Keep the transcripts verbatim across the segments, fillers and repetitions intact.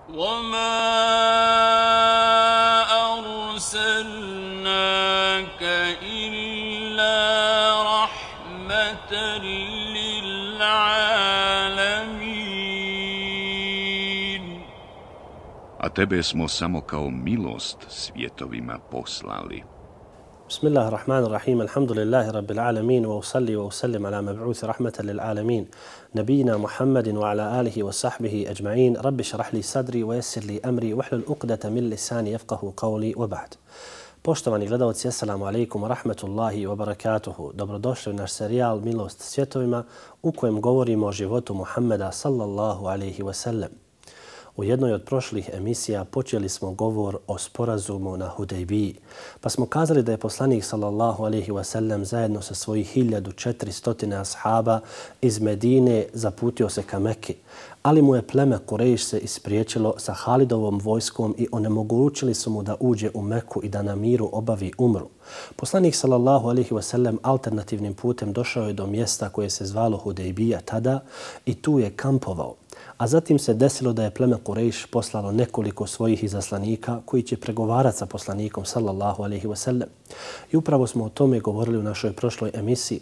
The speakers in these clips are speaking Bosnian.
وَمَا أَرْسَلْنَاكَ إِلَّا رَحْمَةً لِلْعَالَمِينَ. A tebe smo samo kao milost svjetovima poslali. بسم الله الرحمن الرحيم الحمد لله رب العالمين وأصلي وأسلم على مبعوث رحمة للعالمين نبينا محمد وعلى آله وصحبه أجمعين رب اشرح لي صدري ويسر لي أمري واحلل عقدة من لساني يفقه قولي وبعد. Poštovani gledalci, assalamu alaikum wa rahmatullahi wa barakatuhu. Dobrodošli u naš serijal Milost svjetovima u kojem govorimo o životu Muhammeda sallallahu alaihi wa sallam. U jednoj od prošlih emisija počeli smo govor o sporazumu na Hudejbiji, pa smo kazali da je poslanik sallallahu alejhi ve sellem zajedno sa svojih hiljadu četiristo ashaba iz Medine zaputio se ka Mekki, ali mu je pleme Kurejš se ispriječilo sa Halidovom vojskom i onemogućili su mu da uđe u Meku i da na miru obavi umru. Poslanik sallallahu alejhi ve sellem alternativnim putem došao je do mjesta koje se zvalo Hudejbija tada i tu je kampovao. A zatim se desilo da je pleme Kurejš poslalo nekoliko svojih izaslanika koji će pregovarati sa poslanikom sallallahu alejhi ve sellem. I upravo smo o tome govorili u našoj prošloj emisiji.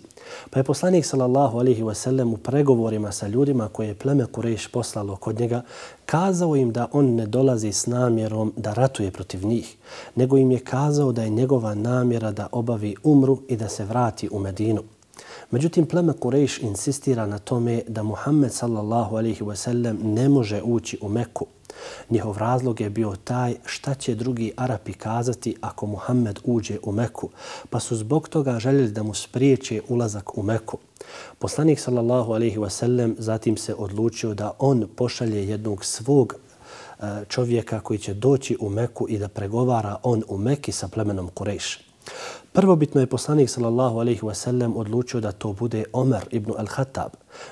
Pa je poslanik sallallahu alejhi ve sellem u pregovorima sa ljudima koje je pleme Kurejš poslalo kod njega kazao im da on ne dolazi s namjerom da ratuje protiv njih, nego im je kazao da je njegova namjera da obavi umru i da se vrati u Medinu. Međutim, pleme Kurejš insistira na tome da Muhammed sallallahu alejhi ve sellem ne može ući u Meku. Njihov razlog je bio taj šta će drugi Arapi kazati ako Muhammed uđe u Meku, pa su zbog toga željeli da mu spriječe ulazak u Meku. Poslanik sallallahu alejhi ve sellem zatim se odlučio da on pošalje jednog svog čovjeka koji će doći u Meku i da pregovara on u Meki sa plemenom Kurejš. Prvobitno je poslanik sallallahu alejhi ve sellem odlučio da to bude Omer ibn al-Khattab.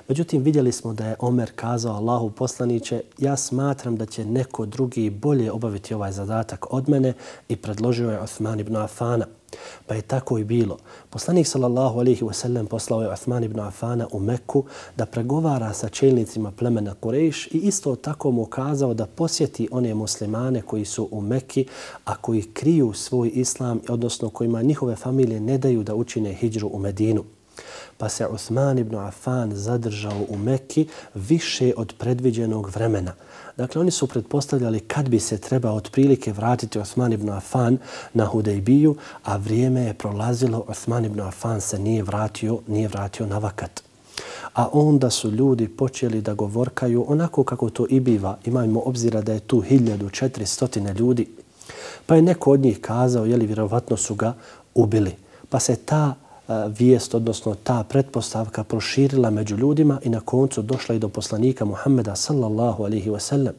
Međutim, vidjeli smo da je Omer kazao Allahu poslaniće, ja smatram da će neko drugi bolje obaviti ovaj zadatak od mene i predložio je Uthman ibn Affana. Pa je tako i bilo. Poslanik sallallahu alejhi ve sellem poslao je Uthman ibn Affana u Mekku da pregovara sa čelnicima plemena Kurejš i isto tako mu kazao da posjeti one muslimane koji su u Mekki, a koji kriju svoj islam, odnosno kojima njihove familije ne daju da učine hidžru u Medinu. Pa se Uthman ibn Affan zadržao u Mekki više od predviđenog vremena. Dakle, oni su pretpostavljali kad bi se trebao otprilike vratiti Uthman ibn Affan na Hudejbiju, a vrijeme je prolazilo, Uthman ibn Affan se nije vratio, nije vratio na vakat. A onda su ljudi počeli da govorkaju onako kako to i biva. Imajmo obzira da je tu hiljadu četiristo ljudi. Pa je neko od njih kazao, jeli vjerovatno su ga ubili. Pa se ta vijest, odnosno ta pretpostavka proširila među ljudima i na koncu došla i do poslanika Muhammeda sallallahu alejhi ve sellem.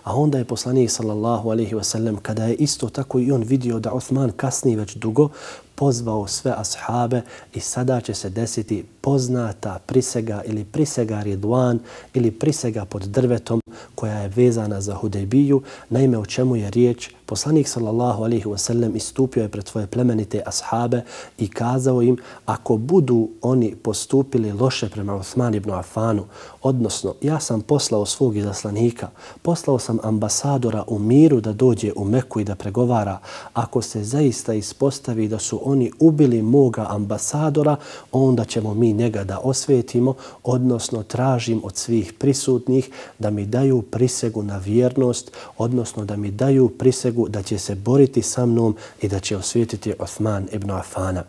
A onda je poslanik sallallahu alejhi ve sellem, kada je isto tako i on vidio da Uthman kasni već dugo, pozvao sve ashabe i sada će se desiti poznata prisega ili prisega Ridwan ili prisega pod drvetom koja je vezana za Hudejbiju. Naime, o čemu je riječ? Poslanik sallallahu alejhi ve sellem istupio je pred svoje plemenite ashabe i kazao im, ako budu oni postupili loše prema Uthman ibn Affanu, odnosno ja sam poslao svog izaslanika, poslao sam ambasadora u miru da dođe u Meku i da pregovara, ako se zaista ispostavi da su oni ubili moga ambasadora, onda ćemo mi njega da osvetimo, odnosno tražim od svih prisutnih da mi daju prisegu na vjernost, odnosno da mi daju prisegu da će se boriti sa mnom i da će osvetiti Uthman ibn Affana.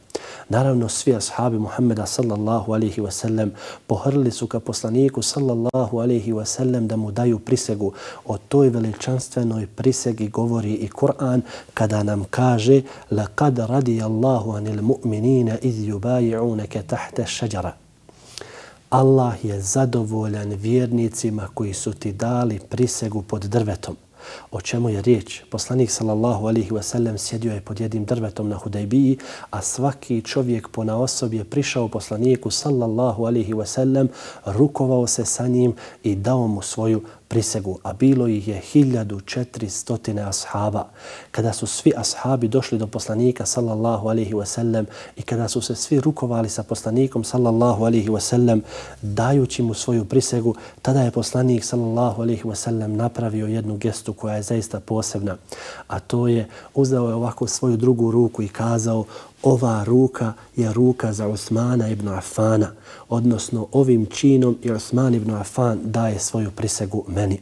Naravno, svi ashabi Muhammeda sallallahu alejhi ve sellem pohrlili su ka poslaniku sallallahu alejhi ve sellem da mu daju prisegu. O toj veličanstvenoj prisegi govori i Kur'an kada nam kaže laqad radijallahu anil mu'minina iz yubayi'unaka tahta ash-shajara. Allah je zadovoljan vjernicima koji su ti dali prisegu pod drvetom. O čemu je riječ? Poslanik sallallahu alejhi ve sellem sjedio je pod jednim drvetom na Hudejbiji, a svaki čovjek ponaosob je prišao poslaniku sallallahu alejhi ve sellem, rukovao se sa njim i dao mu svoju prisegu, a bilo ih je hiljadu četiristo ashaba. Kada su svi ashabi došli do poslanika sallallahu alejhi ve sellem i kada su se svi rukovali sa poslanikom sallallahu alejhi ve sellem dajući mu svoju prisegu, tada je poslanik sallallahu alejhi ve sellem napravio jednu gestu koja je zaista posebna, a to je uzeo je ovako svoju drugu ruku i kazao: ova ruka je ruka za Osmana ibn Afana, odnosno ovim činom i Osman ibn Afan daje svoju prisegu meni.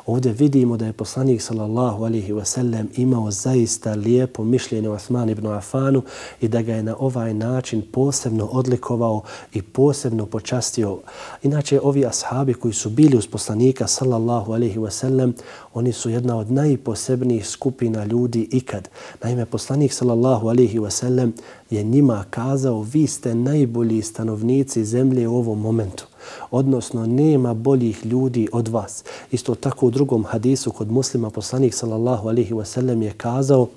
Ovdje vidimo da je poslanik sallallahu alejhi ve sellem imao zaista lijepo mišljenje o Osman ibn Afanu i da ga je na ovaj način posebno odlikovao i posebno počastio. Inače, ovi ashabi koji su bili uz poslanika sallallahu alejhi ve sellem, oni su jedna od najposebnijih skupina ljudi ikad. Naime, poslanik sallallahu alejhi ve sellem je njima kazao: vi ste najbolji stanovnici zemlje u ovom momentu. Odnosno, nema boljih ljudi od vas. Isto tako u drugom hadisu kod Muslima poslanik sallallahu alejhi ve sellem je kazao: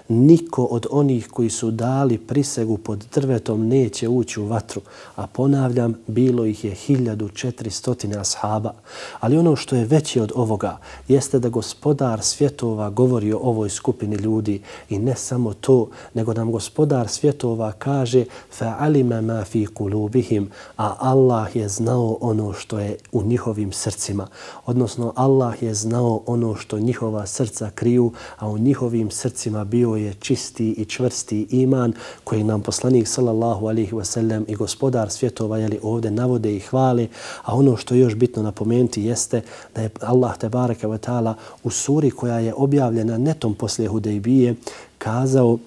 niko od onih koji su dali prisegu pod drvetom neće ući u vatru. A ponavljam, bilo ih je hiljadu četiristo ashaba. Ali ono što je veće od ovoga jeste da gospodar svjetova govori o ovoj skupini ljudi. I ne samo to, nego nam gospodar svjetova kaže: فَعَلِمَ مَا فِي قُلُوبِهِمْ, a Allah je znao ono što je u njihovim srcima. Odnosno, Allah je znao ono što njihova srca kriju, a u njihovim srcima bio je čisti i čvrsti iman koji nam poslanik sallallahu alejhi ve sellem i gospodar svjetova jeli ovdje navode i hvale. A ono što je još bitno napomenuti jeste da je Allah tebareke ve taala u suri koja je objavljena netom poslije Hudejbije kazao: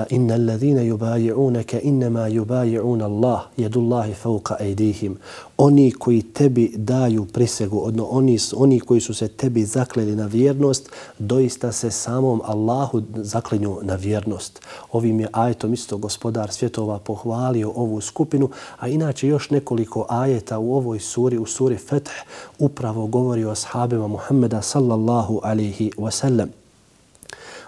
inna alladhina yubayi'unaka inma yubayi'una Allah yadullahi fawqa aydihim. Oni koji tebi daju prisegu, odnosno oni, oni koji su se tebi zakleli na vjernost, doista se samom Allahu zaklinju na vjernost. Ovim je ajetom isto gospodar svjetova pohvalio ovu skupinu, a inače još nekoliko ajeta u ovoj suri, u suri Feth, upravo govori o ashabima Muhammeda sallallahu alejhi ve sellem.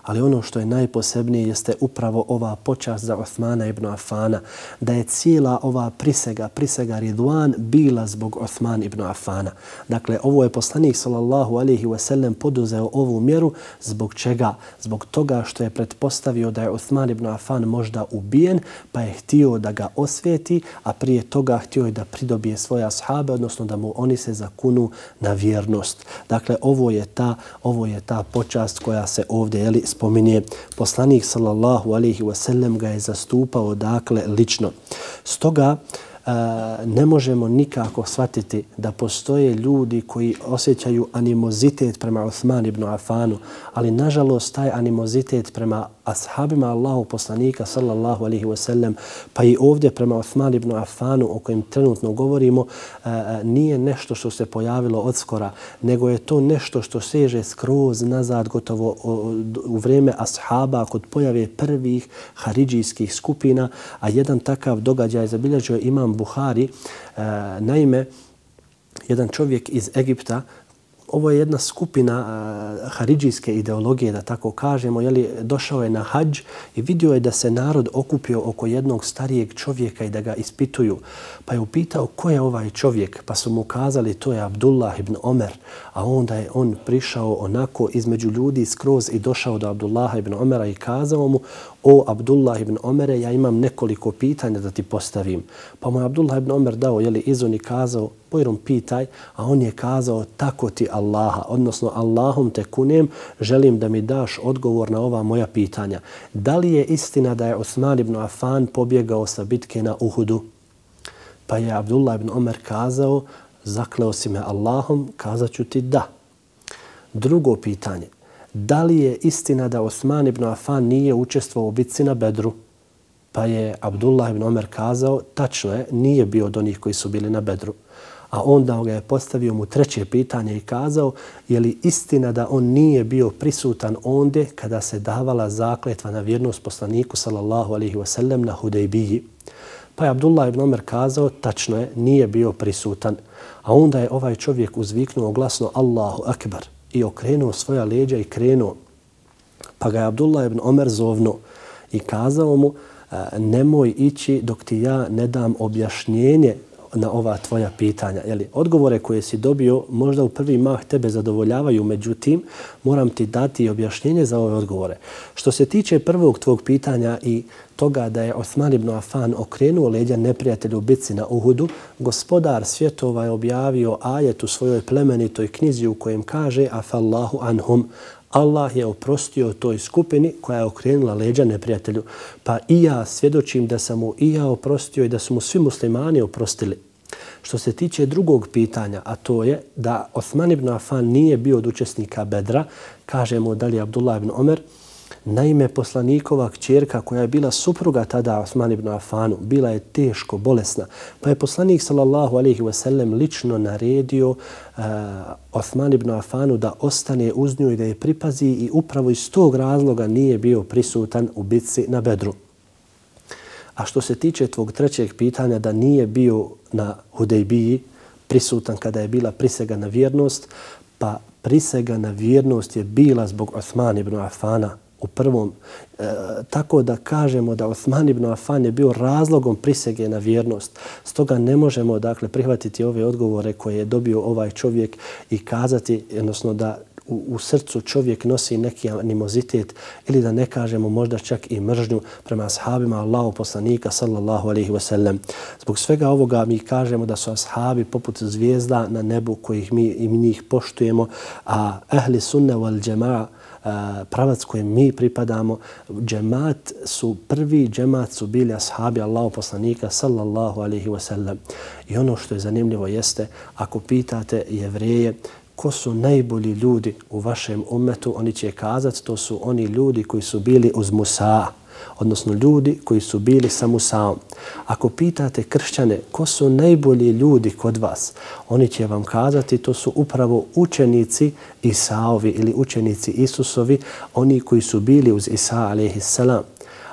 Ali ono što je najposebnije jeste upravo ova počast za Osmana ibn Afana, da je cijela ova prisega, prisega Ridvan bila zbog Osman ibn Afana. Dakle, ovo je poslanik sallallahu alejhi ve sellem poduzeo ovu mjeru zbog čega? Zbog toga što je pretpostavio da je Osman ibn Afan možda ubijen, pa je htio da ga osvijeti, a prije toga htio je da pridobije svoje ashabe, odnosno da mu oni se zakunu na vjernost. Dakle, ovo je ta, ovo je ta počast koja se ovdje jeli, spominje. Poslanik sallallahu alejhi ve sellem ga je zastupao dakle lično. Stoga ne možemo nikako shvatiti da postoje ljudi koji osjećaju animozitet prema Osman ibn Afanu, ali nažalost taj animozitet prema ashabima Allahu poslanika sallallahu alejhi ve sellem, pa i ovdje prema Osman ibn Afanu o kojem trenutno govorimo, nije nešto što se pojavilo odskora, nego je to nešto što seže skroz nazad gotovo u vrijeme ashaba kod pojave prvih haridžijskih skupina, a jedan takav događaj zabilježio imam Buhari. Naime, jedan čovjek iz Egipta, ovo je jedna skupina uh, haridžijske ideologije, da tako kažemo, jeli, došao je na hadž i vidio je da se narod okupio oko jednog starijeg čovjeka i da ga ispituju. Pa je upitao ko je ovaj čovjek, pa su mu kazali to je Abdullah ibn Omer, a onda je on prišao onako između ljudi skroz i došao do Abdullaha ibn Omera i kazao mu: o Abdullah ibn Omere, ja imam nekoliko pitanja da ti postavim. Pa mu je Abdullah ibn Omer dao jeli, izun i kazao: bojrom pitaj, a on je kazao: tako ti Allaha, odnosno Allahom te kunem, želim da mi daš odgovor na ova moja pitanja. Da li je istina da je Osman ibn Afan pobjegao sa bitke na Uhudu? Pa je Abdullah ibn Omer kazao: zakleo si me Allahom, kazat ću ti da. Drugo pitanje: da li je istina da Osman ibn Afan nije učestvovao u bitci na Bedru? Pa je Abdullah ibn Omer kazao: tačno je, nije bio od onih koji su bili na Bedru. A onda ga je postavio mu treće pitanje i kazao: je li istina da on nije bio prisutan ondje kada se davala zakletva na vjernost poslaniku sallallahu alejhi ve sellem na Hudejbiji? Pa je Abdullah ibn Omer kazao, tačno je, nije bio prisutan. A onda je ovaj čovjek uzviknuo glasno Allahu akbar i okrenuo svoja leđa i krenuo. Pa ga je Abdullah ibn Omer zovnuo i kazao mu, nemoj ići dok ti ja ne dam objašnjenje na ova tvoja pitanja. Jeli, odgovore koje si dobio možda u prvi mah tebe zadovoljavaju, međutim moram ti dati objašnjenje za ove odgovore. Što se tiče prvog tvog pitanja i toga da je Osman ibn Affan okrenuo leđa neprijatelju u bitci na Uhudu, gospodar svjetova je objavio ajet u svojoj plemenitoj knjizi u kojem kaže afallahu anhum, Allah je oprostio toj skupini koja je okrenula leđa neprijatelju. Pa i ja svjedočim da sam mu i ja oprostio i da su mu svi muslimani oprostili. Što se tiče drugog pitanja, a to je da Osman ibn Affan nije bio od učesnika Bedra, kažemo dalje Abdullah ibn Omer, naime poslanikova kćerka koja je bila supruga tada Osman ibn Affanu, bila je teško bolesna, pa je poslanik sallallahu alejhi ve sellem lično naredio uh, Osman ibn Affanu da ostane uz nju i da je pripazi i upravo iz tog razloga nije bio prisutan u bitci na Bedru. A što se tiče tvog trećeg pitanja da nije bio na Hudejbiji prisutan kada je bila prisega na vjernost, pa prisega na vjernost je bila zbog Osman ibn Affana u prvom, e, tako da kažemo da Osman ibn Affan je bio razlogom prisege na vjernost. Stoga ne možemo dakle prihvatiti ove odgovore koje je dobio ovaj čovjek i kazati, odnosno da u, u srcu čovjek nosi neki animozitet ili da ne kažemo možda čak i mržnju prema ashabima Allahu poslanika sallallahu alejhi ve sellem. Zbog svega ovoga mi kažemo da su ashabi poput zvijezda na nebu kojih mi i njih poštujemo, a ahli sunne wal džemaa, pravac kojem mi pripadamo, džemat su, prvi džemat su bili ashabi Allahu poslanika sallallahu alejhi ve sellem. I ono što je zanimljivo jeste, ako pitate Jevreje ko su najbolji ljudi u vašem ummetu, oni će kazati to su oni ljudi koji su bili uz Musa, odnosno ljudi koji su bili sa Musaom. Ako pitate kršćane ko su najbolji ljudi kod vas, oni će vam kazati to su upravo učenici Isaovi ili učenici Isusovi, oni koji su bili uz Isa alejhi selam.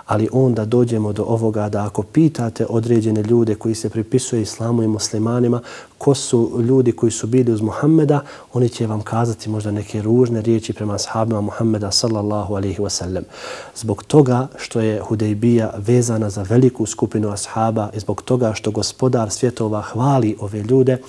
Ali onda dođemo do ovoga da ako pitate određene ljude koji se pripisuju islamu i muslimanima ko su ljudi koji su bili uz Muhammeda, oni će vam kazati možda neke ružne riječi prema ashabima Muhammeda sallallahu alejhi ve sellem. Zbog toga što je Hudejbija vezana za veliku skupinu ashaba i zbog toga što gospodar svjetova hvali ove ljude, e,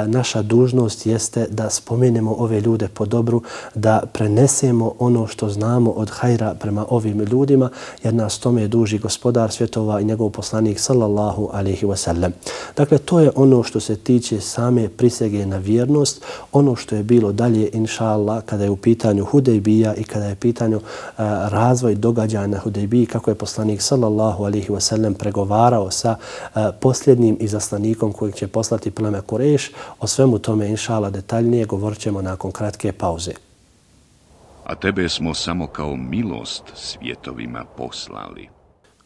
naša dužnost jeste da spomenemo ove ljude po dobru, da prenesemo ono što znamo od hajra prema ovim ljudima, jer nas tome duži gospodar svjetova i njegov poslanik sallallahu alejhi ve sellem. Dakle, to je ono što se tiče same prisege na vjernost. Ono što je bilo dalje, inša Allah, kada je u pitanju Hudejbija i kada je u pitanju uh, razvoj događaja na Hudejbiji, kako je poslanik sallallahu alejhi ve sellem pregovarao sa uh, posljednjim izaslanikom kojeg će poslati pleme Kurejš, o svemu tome, inša Allah, detaljnije govorit ćemo nakon kratke pauze. A tebe smo samo kao milost svjetovima poslali.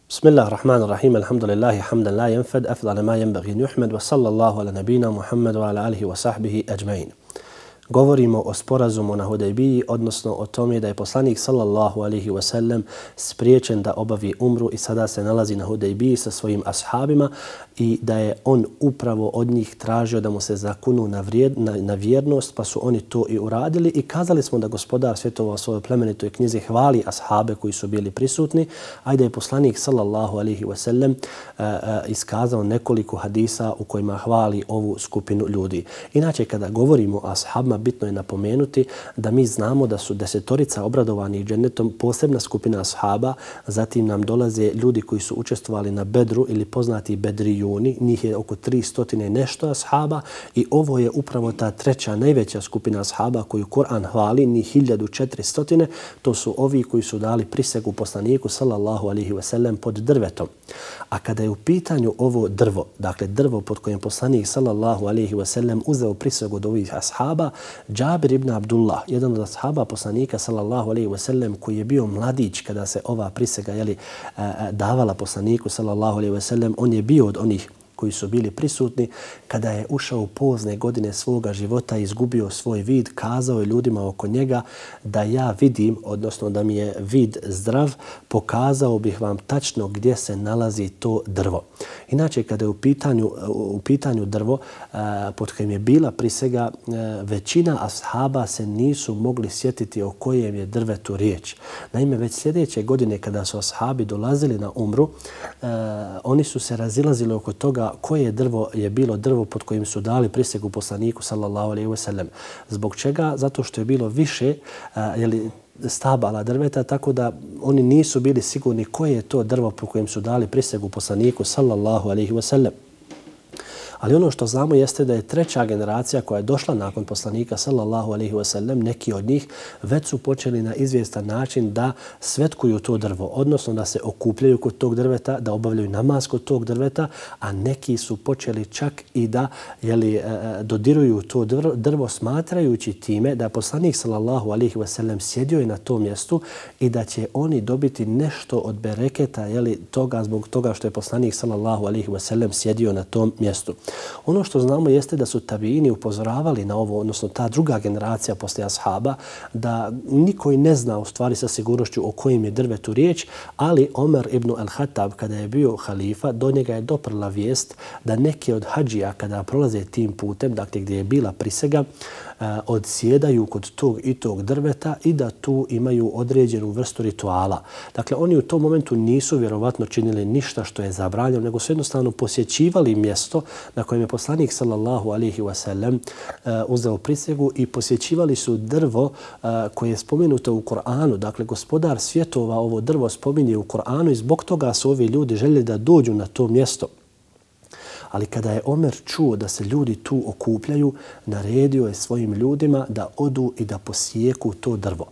Bismillahirrahmanirrahim, alhamdulillahi hamdan la yanfad, afdala ma yanbaghi an yuhmad, wa sallallahu ala nabina Muhammad wa ala alihi wa sahbihi ajma'in. Govorimo o sporazumu na Hudejbiji, odnosno o tome da je poslanik sallallahu alejhi ve sellem spriječen da obavi umru i sada se nalazi na Hudejbiji sa svojim ashabima i da je on upravo od njih tražio da mu se zakunu na, vrijed, na, na vjernost, pa su oni to i uradili i kazali smo da gospodar svjetova u svojoj plemenitoj knjizi hvali ashabe koji su bili prisutni, a da je poslanik sallallahu alejhi ve sellem uh, uh, iskazao nekoliko hadisa u kojima hvali ovu skupinu ljudi. Inače, kada govorimo o ashabima, bitno je napomenuti da mi znamo da su desetorica obradovanih džennetom posebna skupina ashaba, zatim nam dolaze ljudi koji su učestvovali na Bedru ili poznati Bedrijuni, njih je oko tristo nešto ashaba i ovo je upravo ta treća najveća skupina ashaba koju Kur'an hvali, njih hiljadu četiristo, to su ovi koji su dali prisegu poslaniku sallallahu alejhi ve sellem pod drvetom. A kada je u pitanju ovo drvo, dakle drvo pod kojim poslanik sallallahu alejhi ve sellem uzeo prisegu od ovih ashaba, Džabir ibn Abdullah, jedan od ashaba poslanika sallallahu alejhi ve sellem koji je bio mladić kada se ova prisega jeli, davala poslaniku sallallahu alejhi ve sellem, on je bio od onih koji su bili prisutni, kada je ušao u pozne godine svoga života i izgubio svoj vid, kazao je ljudima oko njega da ja vidim, odnosno da mi je vid zdrav, pokazao bih vam tačno gdje se nalazi to drvo. Inače, kada je u pitanju, u pitanju drvo pod kojim je bila prisega, većina ashaba se nisu mogli sjetiti o kojem je drvetu riječ. Naime, već sljedeće godine kada su ashabi dolazili na umru, oni su se razilazili oko toga koje drvo je bilo drvo pod kojim su dali prisegu poslaniku sallallahu alejhi ve sellem. Zbog čega? Zato što je bilo više jeli, stabala drveta, tako da oni nisu bili sigurni koje je to drvo po kojem su dali prisegu poslaniku sallallahu alejhi ve sellem. Ali ono što znamo jeste da je treća generacija koja je došla nakon poslanika sallallahu alejhi ve sellem, neki od njih već su počeli na izvjestan način da svetkuju to drvo, odnosno da se okupljaju kod tog drveta, da obavljaju namaz kod tog drveta, a neki su počeli čak i da jeli, dodiruju to drvo, drvo smatrajući time da poslanik sallallahu alejhi ve sellem sjedio je na tom mjestu i da će oni dobiti nešto od bereketa jeli, toga zbog toga što je poslanik sallallahu alejhi ve sellem sjedio na tom mjestu. Ono što znamo jeste da su tabiini upozoravali na ovo, odnosno ta druga generacija poslije ashaba, da niko i ne zna u stvari sa sigurnošću o kojim je drvetu riječ, ali Omer ibn al-Khattab, kada je bio halifa, do njega je doprla vijest da neki od hadžija kada prolaze tim putem, dakle gdje je bila prisega, odsjedaju kod tog i tog drveta i da tu imaju određenu vrstu rituala. Dakle, oni u tom momentu nisu vjerovatno činili ništa što je zabranjeno, nego su jednostavno posjećivali mjesto na kojem je poslanik sallallahu alejhi ve sellem uzeo prisegu i posjećivali su drvo koje je spomenuto u Kur'anu. Dakle, gospodar svjetova ovo drvo spominje u Kur'anu i zbog toga su ovi ljudi željeli da dođu na to mjesto. Ali kada je Omer čuo da se ljudi tu okupljaju, naredio je svojim ljudima da odu i da posijeku to drvo.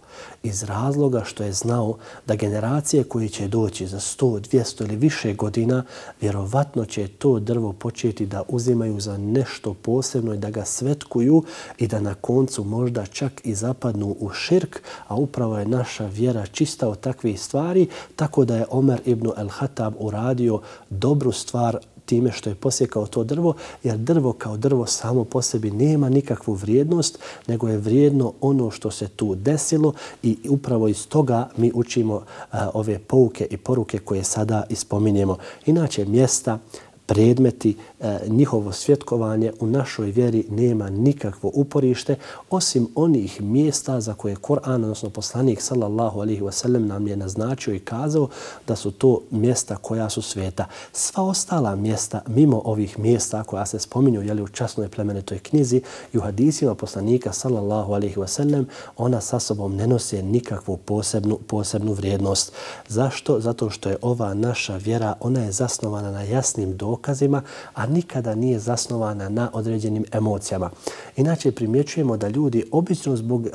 Iz razloga što je znao da generacije koje će doći za sto, dvjesto ili više godina, vjerovatno će to drvo početi da uzimaju za nešto posebno i da ga svetkuju i da na koncu možda čak i zapadnu u širk, a upravo je naša vjera čista od takvih stvari, tako da je Omer ibn al-Khattab uradio dobru stvar time što je posjekao to drvo, jer drvo kao drvo samo po sebi nema nikakvu vrijednost, nego je vrijedno ono što se tu desilo i upravo iz toga mi učimo a, ove pouke i poruke koje sada ispominjemo. Inače, mjesta, predmeti, e, njihovo svjetkovanje u našoj vjeri nema nikakvo uporište osim onih mjesta za koje Kur'an, odnosno poslanik sallallahu alejhi ve sellem nam je naznačio i kazao da su to mjesta koja su sveta. Sva ostala mjesta mimo ovih mjesta koja se spominju jeli, u časnoj plemenitoj knjizi i u hadisima poslanika sallallahu alejhi ve sellem, ona sa sobom ne nose nikakvu posebnu, posebnu vrijednost. Zašto? Zato što je ova naša vjera, ona je zasnovana na jasnim dokazima, dokazima, a nikada nije zasnovana na određenim emocijama. Inače, primjećujemo da ljudi obično zbog uh,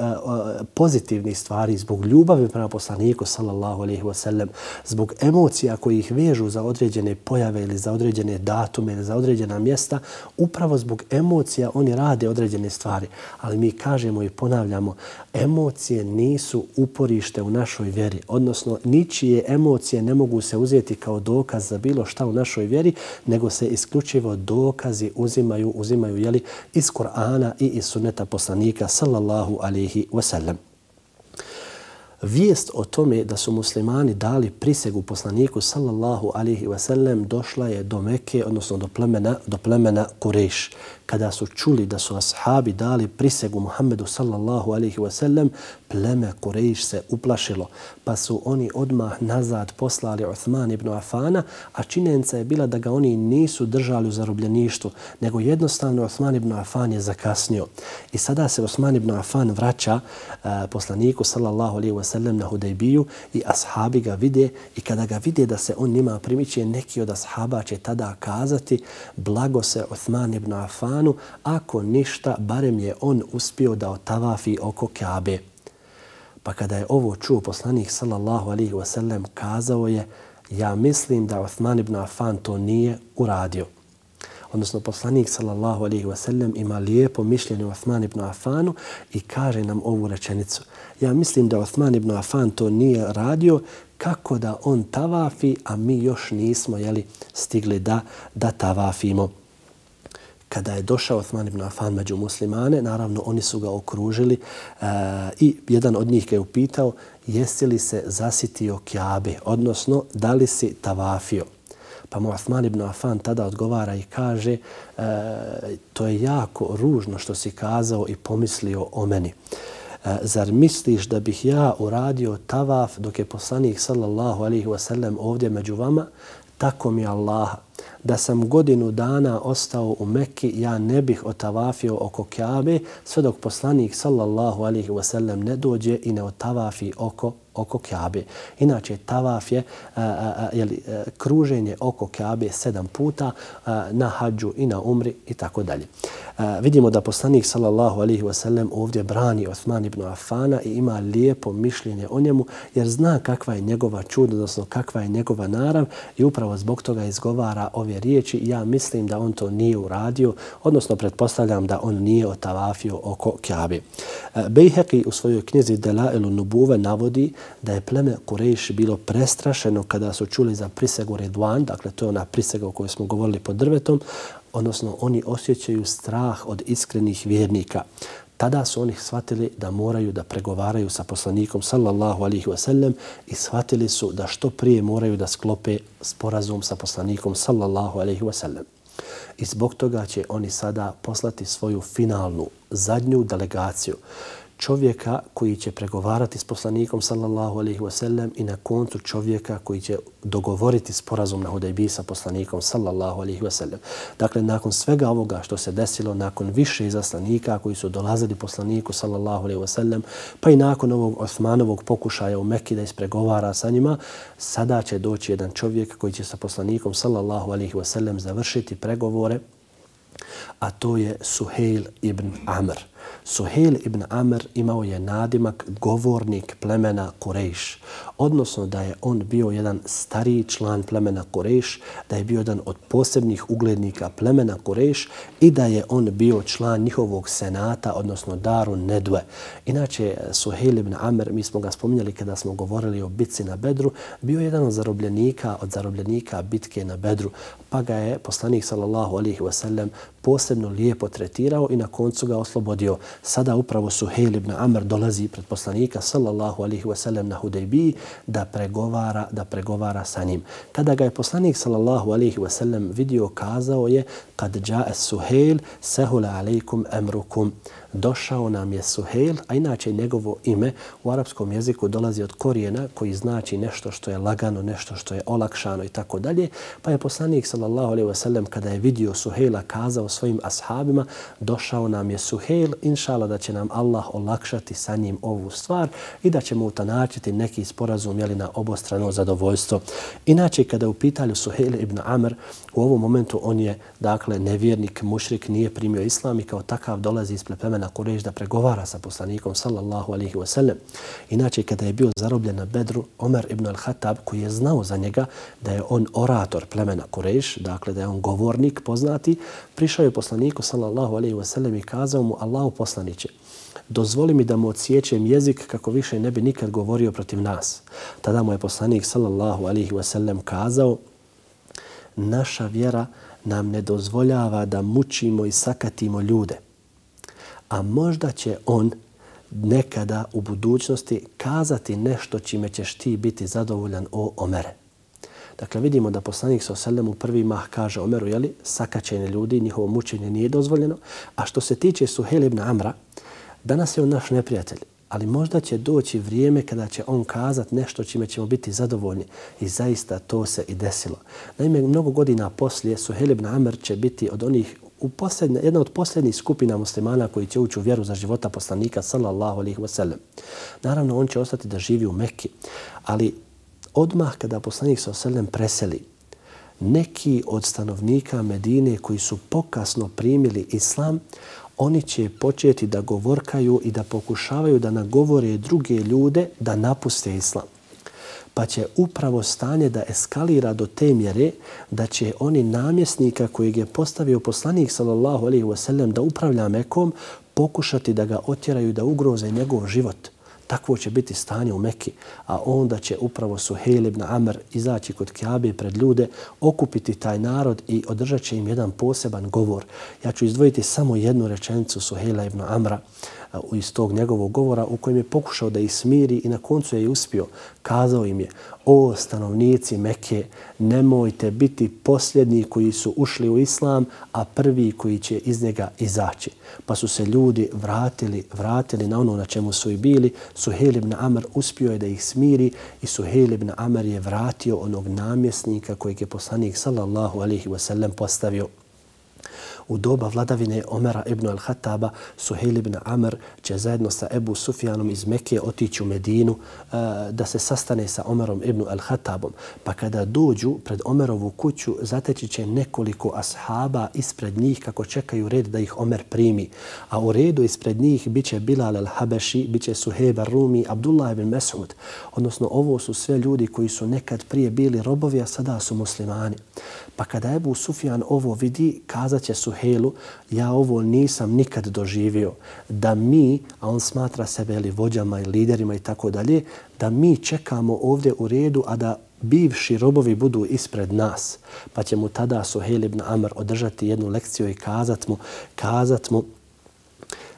pozitivnih stvari, zbog ljubavi prema poslaniku sallallahu alejhi ve sellem, zbog emocija koji ih vežu za određene pojave ili za određene datume ili za određena mjesta, upravo zbog emocija oni rade određene stvari. Ali mi kažemo i ponavljamo, emocije nisu uporište u našoj vjeri, odnosno ničije emocije ne mogu se uzeti kao dokaz za bilo šta u našoj vjeri, nego se isključivo dokazi uzimaju, uzimaju jeli, iz Kur'ana i iz sunneta poslanika sallallahu alejhi ve sellem. Vijest o tome da su muslimani dali prisegu poslaniku sallallahu alejhi ve sellem došla je do Mekke, odnosno do plemena, do plemena Kurejš. Kada su čuli da su ashabi dali prisegu Muhammedu sallallahu alejhi ve sellem, pleme Kurejš se uplašilo, pa su oni odmah nazad poslali Uthman ibn Afana, a činjenica je bila da ga oni nisu držali u zarobljeništvu, nego jednostavno Uthman ibn Afan je zakasnio. I sada se Uthman ibn Afan vraća uh, poslaniku sallallahu alejhi ve sellem na Hudejbiju i ashabi ga vide i kada ga vide da se on njima primiče, neki od ashaba će tada kazati blago se Uthman ibn Afanu, ako ništa, barem je on uspio da otavafi oko Kabe. Pa kada je ovo čuo poslanik sallallahu alejhi ve sellem, kazao je, ja mislim da Uthman ibn Afan to nije uradio. odnosno poslanik sallallahu alejhi ve sellem ima lijepo mišljenje o Osman ibn Afanu i kaže nam ovu rečenicu. Ja mislim da Osman ibn Afan to nije radio, kako da on tavafi, a mi još nismo jeli, stigli da, da tavafimo. Kada je došao Osman ibn Afan među muslimane, naravno oni su ga okružili e, i jedan od njih ga je upitao jesi li se zasitio Kjabe, odnosno da li si tavafio. Pa mu Osman ibn Afan tada odgovara i kaže e, to je jako ružno što si kazao i pomislio o meni. E, zar misliš da bih ja uradio tavaf dok je poslanik sallallahu alejhi ve sellem ovdje među vama? Tako mi Allaha, da sam godinu dana ostao u Mekki, ja ne bih otavafio oko Kjabe sve dok poslanik sallallahu alejhi ve sellem ne dođe i ne otavafi oko oko Kjabe. Inače, tavaf je a, a, jeli, a, kruženje oko Kjabe sedam puta a, na hađu i na umri i tako dalje. Vidimo da poslanik sallallahu alejhi ve sellem ovdje brani Osman ibn Afana i ima lijepo mišljenje o njemu jer zna kakva je njegova čud, odnosno kakva je njegova narav i upravo zbog toga izgovara ove riječi. Ja mislim da on to nije uradio, odnosno pretpostavljam da on nije otavafio oko Kjabe. Bejheki u svojoj knjizi Delailu Nubuve navodi da je pleme Kurejš bilo prestrašeno kada su čuli za prisegu Ridvan, dakle to je ona prisega o kojoj smo govorili pod drvetom, odnosno oni osjećaju strah od iskrenih vjernika. Tada su oni shvatili da moraju da pregovaraju sa poslanikom sallallahu alejhi ve sellem i shvatili su da što prije moraju da sklope sporazum sa poslanikom sallallahu alejhi ve sellem. I zbog toga će oni sada poslati svoju finalnu, zadnju delegaciju, čovjeka koji će pregovarati s poslanikom sallallahu alejhi ve sellem i na koncu čovjeka koji će dogovoriti sporazum na Hudejbiji sa poslanikom sallallahu alejhi ve sellem. Dakle, nakon svega ovoga što se desilo, nakon više izaslanika koji su dolazili poslaniku sallallahu alejhi ve sellem, pa i nakon ovog Osmanovog pokušaja u Mekki da ispregovara sa njima, sada će doći jedan čovjek koji će sa poslanikom sallallahu alejhi ve sellem završiti pregovore, a to je Suhejl ibn Amr. Suhejl ibn Amr imao je nadimak govornik plemena Kurejš, odnosno da je on bio jedan stariji član plemena Kurejš, da je bio jedan od posebnih uglednika plemena Kurejš i da je on bio član njihovog senata, odnosno Daru Nedve. Inače, Suhejl ibn Amr, mi smo ga spominjali kada smo govorili o bitci na Bedru, bio jedan od zarobljenika, od zarobljenika bitke na Bedru, pa ga je poslanik sallallahu alejhi ve sellem posebno lijepo tretirao i na koncu ga oslobodio. Sada upravo Suhejl ibn Amr dolazi pred poslanika sallallahu alejhi ve sellem na Hudejbiji da pregovara, da pregovara sa njim. Kada ga je poslanik sallallahu alejhi ve sellem vidio, kazao je: "Kad ja'a Suhejl sahula alejkum amrukum." Došao nam je Suhejl, a inače njegovo ime u arapskom jeziku dolazi od korijena koji znači nešto što je lagano, nešto što je olakšano i tako dalje. Pa je poslanik sallallahu alejhi ve sellem kada je vidio Suhejla kazao svojim ashabima: "Došao nam je Suhejl, inšala da će nam Allah olakšati sa njim ovu stvar i da ćemo utanačiti neki sporazum jeli, na obostrano zadovoljstvo." Inače, kada je u pitanju Suhejl ibn Amr, u ovom momentu on je dakle nevjernik, mušrik, nije primio islam i kao takav dolazi ispred plemena Kurejš da pregovara sa poslanikom sallallahu alejhi ve sellem. Inače, kada je bio zarobljen na Bedru, Omer ibn al-Khattab, koji je znao za njega da je on orator plemena Kurejš, dakle da je on govornik poznati, prišao je poslaniku sallallahu alejhi ve sellem i kazao mu: "Allahu poslaniće, dozvoli mi da mu odsječem jezik kako više ne bi nikad govorio protiv nas." Tada mu je poslanik sallallahu alejhi ve sellem kazao: "Naša vjera nam ne dozvoljava da mučimo i sakatimo ljude. A možda će on nekada u budućnosti kazati nešto čime ćeš ti biti zadovoljan, o Omere." Dakle, vidimo da poslanik sallallahu alejhi ve sellem u prvi mah kaže Omeru, jeli, sakaćenje ljudi, njihovo mučenje nije dozvoljeno. A što se tiče Suhejla ibn Amra, danas je on naš neprijatelj, ali možda će doći vrijeme kada će on kazati nešto čime ćemo biti zadovoljni. I zaista to se i desilo. Naime, mnogo godina poslije Suhejl ibn Amr će biti od onih u posljednje, jedna od posljednjih skupina muslimana koji će ući u vjeru za života poslanika sallallahu alejhi ve sellem. Naravno, on će ostati da živi u Mekki, ali odmah kada poslanik sallallahu alejhi ve sellem preseli, neki od stanovnika Medine koji su pokasno primili islam, oni će početi da govorkaju i da pokušavaju da nagovore druge ljude da napuste islam. pa će upravo stanje da eskalira do te mjere da će oni namjesnika kojeg je postavio poslanik sallallahu alejhi ve sellem da upravlja Mekom pokušati da ga otjeraju da ugroze njegov život. Takvo će biti stanje u Meki, a onda će upravo Suhejl ibn Amr izaći kod Kjabe pred ljude, okupiti taj narod i održat će im jedan poseban govor. Ja ću izdvojiti samo jednu rečenicu Suhejla ibn Amra iz tog njegovog govora u kojem je pokušao da ih smiri i na koncu je i uspio. Kazao im je: o stanovnici Mekke, nemojte biti posljednji koji su ušli u islam, a prvi koji će iz njega izaći. Pa su se ljudi vratili, vratili na ono na čemu su i bili. Suhejl ibn Amr uspio je da ih smiri i Suhejl ibn Amr je vratio onog namjesnika kojeg je poslanik sallallahu alejhi ve sellem postavio. U doba vladavine Omera ibn al-Khattaba, Suhejl ibn Amr će zajedno sa Ebu Sufjanom iz Mekke otići u Medinu uh, da se sastane sa Omerom ibn al-Khattabom. Pa kada dođu pred Omerovu kuću, zateći će nekoliko ashaba ispred njih kako čekaju red da ih Omer primi. A u redu ispred njih biće Bilal al-Habeši, biće Suhejb ar-Rumi, Abdullah ibn Mas'ud. Odnosno, ovo su sve ljudi koji su nekad prije bili robovi, a sada su muslimani. Pa kada Ebu Sufjan ovo vidi, kazat će Suhejlu: ja ovo nisam nikad doživio, da mi, a on smatra sebe ili vođama i liderima i tako dalje, da mi čekamo ovdje u redu, a da bivši robovi budu ispred nas. Pa će mu tada Suhejl ibn Amr održati jednu lekciju i kazat mu, kazat mu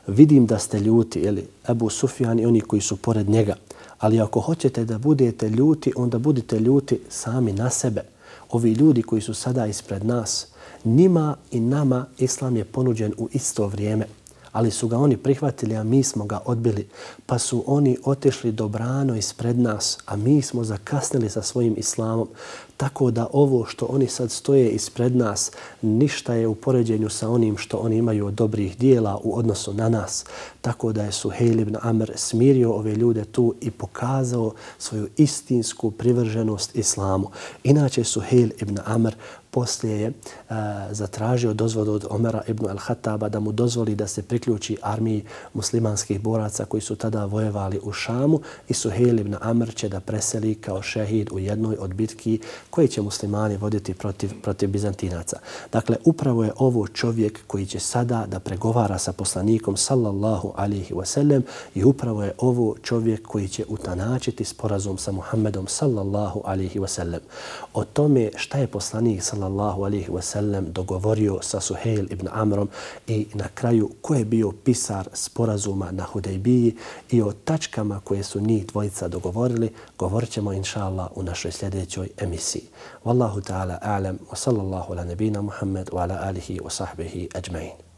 vidim da ste ljuti, ili Ebu Sufjan i oni koji su pored njega, ali ako hoćete da budete ljuti, onda budite ljuti sami na sebe. Ovi ljudi koji su sada ispred nas, njima i nama islam je ponuđen u isto vrijeme, ali su ga oni prihvatili, a mi smo ga odbili. Pa su oni otišli dobrano ispred nas, a mi smo zakasnili sa svojim islamom. Tako da ovo što oni sad stoje ispred nas, ništa je u poređenju sa onim što oni imaju od dobrih dijela u odnosu na nas. Tako da je Suhejl ibn Amr smirio ove ljude tu i pokazao svoju istinsku privrženost islamu. Inače, Suhejl ibn Amr poslije je uh, zatražio dozvolu od Omera ibn al-Khattaba da mu dozvoli da se priključi armiji muslimanskih boraca koji su tada vojevali u Šamu, i Suhejl ibn Amr će da preseli kao šehid u jednoj od bitki koje će muslimani voditi protiv, protiv Bizantinaca. Dakle, upravo je ovo čovjek koji će sada da pregovara sa poslanikom sallallahu alejhi ve sellem, i upravo je ovo čovjek koji će utanačiti sporazum sa Muhammedom sallallahu alejhi ve sellem. O tome šta je poslanik sallallahu alejhi ve sellem dogovorio sa Suhejl ibn Amrom i na kraju ko je bio pisar sporazuma na Hudejbiji i o tačkama koje su njih dvojica dogovorili, govorit ćemo inša Allah u našoj sljedećoj emisiji. Wallahu ta'ala a'lam wa sallallahu ala nabina Muhammed wa ala alihi wa sahbihi ajma'in.